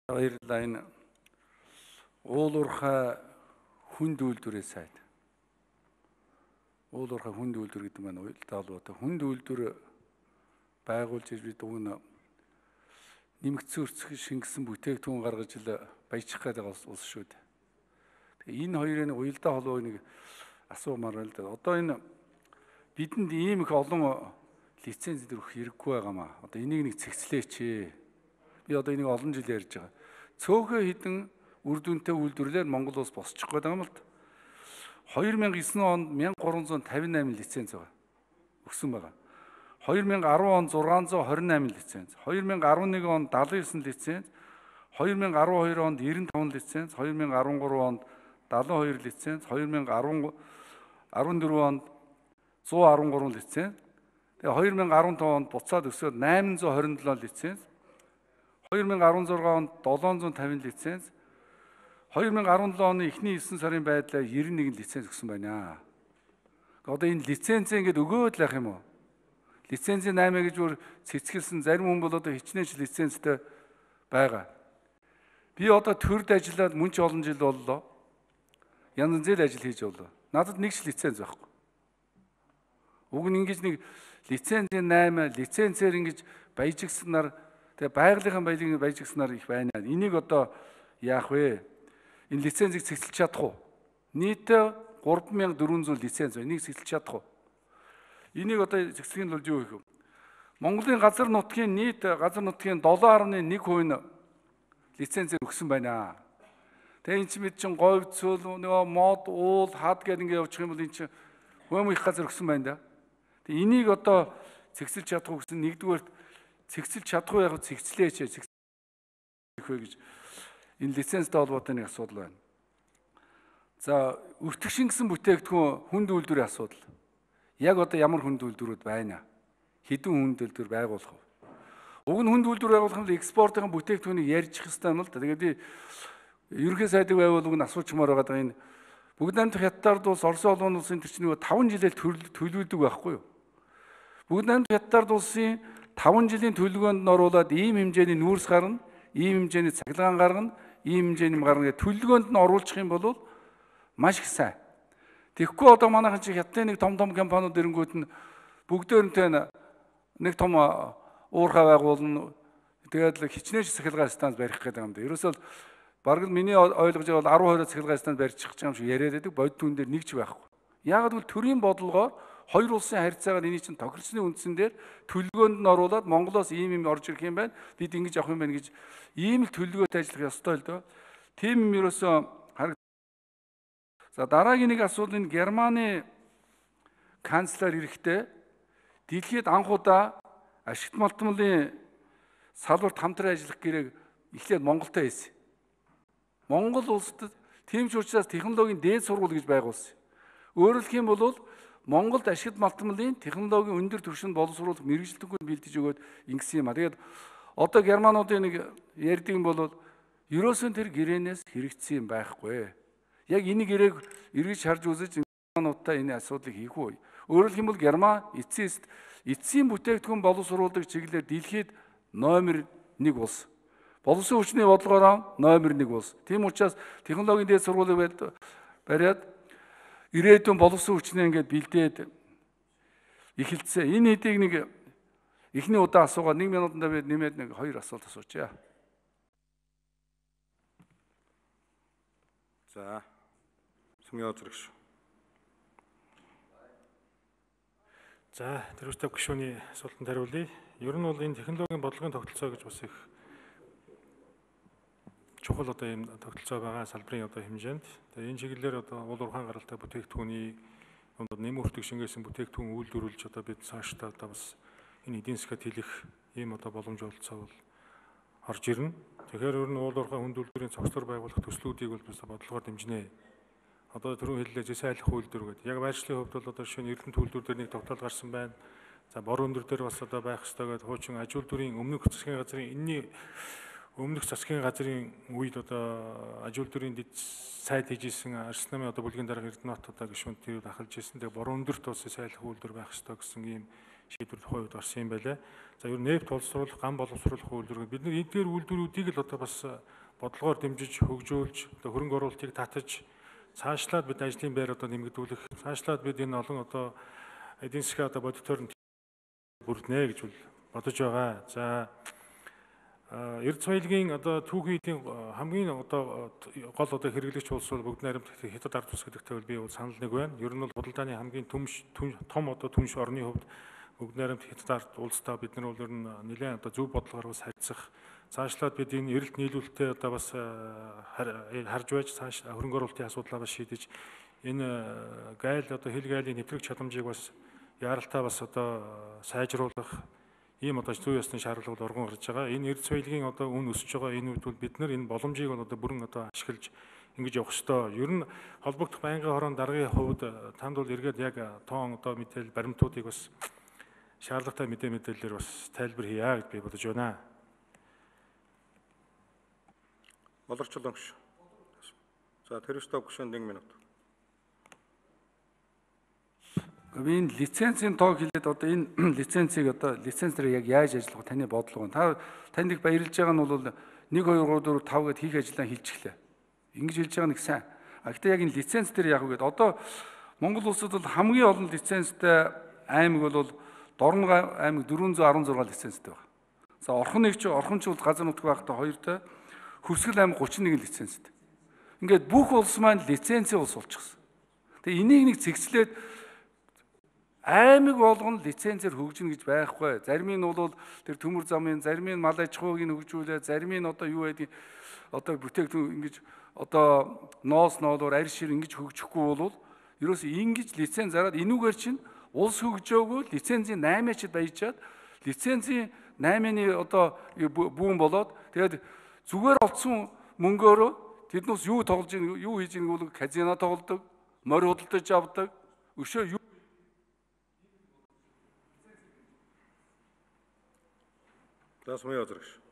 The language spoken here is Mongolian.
Баярлалаа. Энэ уулуурхай хүнд үйлдвэрээ сайд. Уулуурхай хүнд үйлдвэр гэдэг маань уялдаа холбоотой хүнд үйлдвэр байгуулж иж бид өгнө нэмэгдсэн өрцөг шингэсэн бүтээгдэхүүн гаргаж ил баяжих гэдэг улс шүү дээ. Тэгээ энэ хоёрын уялдаа холбоог нэг асуумаар байна л да. Одоо энэ бидэнд ийм их олон лиценз төрөх хэрэггүй байгаамаа. Одоо энийг нэг цэгцлээч. Би одоо энийг олон жил ярьж байгаа. Цөөхөн хідэн үр дүнтэй үйлдвэрлэлээр Монгол улс босчих гээд байгаа юм л да. 2009 онд 1358 лиценз байгаа. Өгсөн байгаа. 2010 онд 628 лиценз, 2011 онд 79 лиценз, 2012 онд 95 лиценз, 2013 онд 72 лиценз, 2014 онд 113 лиценз. Тэгээ 2015 онд буцаад өсөөд 827 лиценз. 2016 онд 750 лиценз. 2017 оны эхний 9 сарын байдлаар 91 лиценз өгсөн байна. Одоо энэ лицензээ ингэж өгөөд л ах юм уу? Лицензийн 8 гэж бүр цэцгэлсэн зарим хүн бол одоо хичнээн лицензтэй байгаа. Би одоо төрд ажиллаад мөн ч олон жил боллоо. Янз бүрийн ажил хийж боллоо. Надад нэг ч лиценз байхгүй. Уг нь ингэж нэг лицензийн 8 лицензээр ингэж баяжигснаар тэгээ байгалийнхын баялагын баяжигснаар их байна. Энийг одоо яах вэ? Энэ лицензийг цэцэлж чадах уу? Нийтдээ 3400 лиценз байна. Энийг цэцэлж чадах уу? Энийг одоо цэцлэхийн тулд юу хийх вэ? Монголын газар нутгийн нийт газар нутгийн 7.1% нь лицензээр өгсөн байна. Тэгээ энэ чинь бид чинь говь цөл нөгөө мод уул хад гэдэг ингэ явуучих юм бол энэ чинь хөм их газар өгсөн байна да. Тэгээ энийг одоо цэцэлж чадах уу гэсэн нэгдүгээр цэцэлж чадах уу яг цэцлээч цэцлэх вэ гэж энэ лицензтэй холбоотой нэг асуудал байна. За өртөг шингэсэн бүтээгдэхүүн хүнд үйлдвэрийн асуудал. Яг одоо ямар хүнд үйлдвэрүүд байна? Хэдэн хүнд үйлдвэр байгуулах вэ? Уг нь хүнд үйлдвэр байгуулах нь экспортын бүтээгдэхүүнийг ярьж хэвээр юм л да. Тэгээд би ерөнхий сайдыг байгуулах нь асуучмаар байгаа энэ бүгд найрамдах хятадд улс Орос улсын улсын тэр чинь 5 жилээр төлөвлөдөг байхгүй юу? Бүгд найрамдах хятадд улсын 5 жилийн төлөвлөгөөнд нь оруулаад ийм хэмжээний нүүрс гарна, ийм хэмжээний цахилгаан гарна, ийм хэмжээний гарна гэх төлөвлөгөөнд нь оруулах юм бол маш их сайн. Тэгэхгүй одоо манайхан чи хятадын нэг том компаниуд ирэнгүүт нь бүгдээрнтэй нэг том уурхай байгуулна. Тэгээд л хичнээн цахилгаан станц барих гэдэг юм да. Ерөөсөө бараг л миний ойлгож байгаа бол 10-20 цахилгаан станц барьчих гэж юм шиг яриад байдаг. Бодит хүн дээр нэг ч байхгүй. Яагаад гэвэл төрийн бодлогоор хоёр улсын харьцаагаар эний чинь тохирсны үндсэн дээр төлөвлөгөөнд нь оруулаад Монголоос ийм юм орж ирэх юм байна. Бид ингэж авах юм байна гэж ийм л төлөвлөгөөтэй ажиллах ёстой л дөө. Тийм юм ерөөсөө за дараагийн нэг асуудал энэ Германы канцлер эрэхтэй дэлхийд анх удаа ашигт малтмалын салбарт хамтран ажиллах гэрээг эхлээд Монголтой хийсэн. Монгол улсад тийм ч учраас технологийн дээд сургууль гэж байгуулсан. Өөрөөр хэлэх юм бол Монголд ашигт малтмалын технологийн өндөр түвшинд боловсруулах мэргэжилтгүй бэлдэж өгөөд ингэсэн юм а. Тэгээд одоо германуудын нэг ярьдаг юм бол ерөөсөн тэр гэрээнээс хэрэгцсэн юм байхгүй. Яг энийг эргэж харж үзэж германуудтай энэ асуудлыг хийх үү? Өөрөөр хэлэх юм бол Герман эцсийн бүтээгдэхүүн боловсруулдаг чиглэлээр дэлхийд номер 1 улс. Боловсон хүчний бодлогоор номер 1 улс. Тийм учраас технологийн дээд сургуулийг бариад ирээдүйн боловсон хүчнээ ингээд бэлдээд эхэлсэн. Энэ хэдийг нэг эхний удаа асуугаад 1 минутанда би нэмээд нэг 2 асуулт асуучаа. За. Сүмийн озрагш. За, тэрүүстэй гишүүний асуултанд хариулъя. Ер нь бол энэ технологийн бодлогын тогтолцоо гэж бас их чухал одоо ийм тогтолцоо байгаа салбарын одоо хэмжээнд. Тэгээ энэ чиглэлээр одоо уул уурхайн гаралтай бүтээгдэхүүний нэм өртөг шингээсэн бүтээгдэхүүн үйлдвэрлэж одоо бид цаашдаа одоо бас энэ эдийн засгад хэлэх ийм одоо боломж олцоо бол орж ирнэ. Тэгэхээр ер нь уул уурхай хүнд үйлдвэрийн цогцлоор байгуулах төслүүдийг бол бас бодлогоор дэмжинэ. Одоо түрүүн хэллээ зэс айлах үйлдвэр гэдэг. Яг байршлын хувьд бол одоо шинэ эрдэнэт үйлдвэр дээр нэг тогтоол гарсан байна. За бор өндөр дээр бас одоо байх ёстой гэдэг хуучин аж үйлдвэрийн өмнөх засгийн газрын энэний өмнөх засгийн газрын үед одоо аж үйлдвэрийн дэд сайд хийжсэн Арс намын одоо бүлгийн дарга Эрдэнэт одоо гишүүнд тэр ахалж ирсэн. Тэгээ бор өндөрт бас зэс айлах үйлдвэр байх ёстой гэсэн ийм шийдвэр тухайн үед гарсан юм байлаа. За ер нь нефт боловсруулах, ган боловсруулах үйлдвэр бид нар эдгээр үйлдвэрүүдийг л одоо бас бодлогоор дэмжиж, хөгжүүлж, одоо хөрөнгө оруулалтыг татаж цаашлаад бид ажлын байр одоо нэмэгдүүлэх, цаашлаад бид энэ олон одоо эдийн засгийн одоо бодитоор бүрднэ гэж бодож байгаа. За Эрдэнэ соёлын одоо түүхийн эдийн хамгийн одоо гол одоо хэрэглэгч улс бол бүгд найрамд Хятад ард улс гэдэгтэй бол би санал нэг байна. Ер нь бол худалдааны хамгийн том одоо түнш орны хувьд бүгд найрамд Хятад ард улстай бид нар бол ер нь нэлээд одоо зөв бодлогоор бас харьцах, цаашлаад бид энэ эрэлт нийлүүлэлтээ одоо бас харж байж цааш хөрөнгө оруулалтын асуудлаа бас шийдэж энэ гайл одоо хил гайлын нэвтрэх чадамжийг бас яаралтай бас одоо сайжруулах ийм одоо зүй ёсны шаардлага оргон гарч байгаа. Энэ эрдэнэ соёлын одоо үн өсөж байгаа энэ үед бол бид нар энэ боломжийг бол одоо бүрэн одоо ашиглаж ингэж явах ёстой. Ер нь холбогдох байнгын хорон даргын хувьд танд бол эргээд яг тоон одоо мэдээлэл баримтуудыг бас шаардлагатай мэдээллээр бас тайлбар хийя гэж би бодож байна. Болорчлон гүш. За Тэрвэстов гүшэнд 1 минут. Энэ лицензийн тоог хэлээд одоо энэ лицензийг одоо лицензээр яг яаж ажиллах таны бодлого байна. Танд их баярлж байгаа нь бол 1 2 3 4 5 гэд хийх ажлаа хэлчихлээ. Ингэж хэлж байгаа нэг сайн. Гэхдээ яг энэ лиценз дээр яг үгээд одоо Монгол улсад бол хамгийн олон лицензтэй аймаг бол Дорног аймаг 416 лицензтэй байна. За орхон ч бол газар нутаг байхдаа 2-тай, Хүрсгэл аймаг 31 лицензтэй. Ингээд бүх улс маань лицензийн улс болчихсон. Тэгээ энийг нэг цэгцлээд аймаг болгоно лицензээр хөгжинэ гэж байхгүй. Зарим нь бол тэр төмөр замын, зарим нь мал аж ахуйг нь хөгжүүлээ, зарим нь одоо юу байдгийг одоо бүтээгдэхүүн ингэж одоо ноос ноолоор арь шир ингэж хөгжихгүй бол ерөөсөө ингэж лиценз зараад энүүгээр чинь улс хөгжөөгөө лицензийн 8-ачд баяжаад лицензийн 8-ны одоо бүүн болоод тэгээд зүгээр олцсон мөнгөөрөө тэднээс юу тоглож ийн юу хийж ийн бол казино тоглодог, морь худалдаж авдаг, өшөө юу За Сумын Язрагш.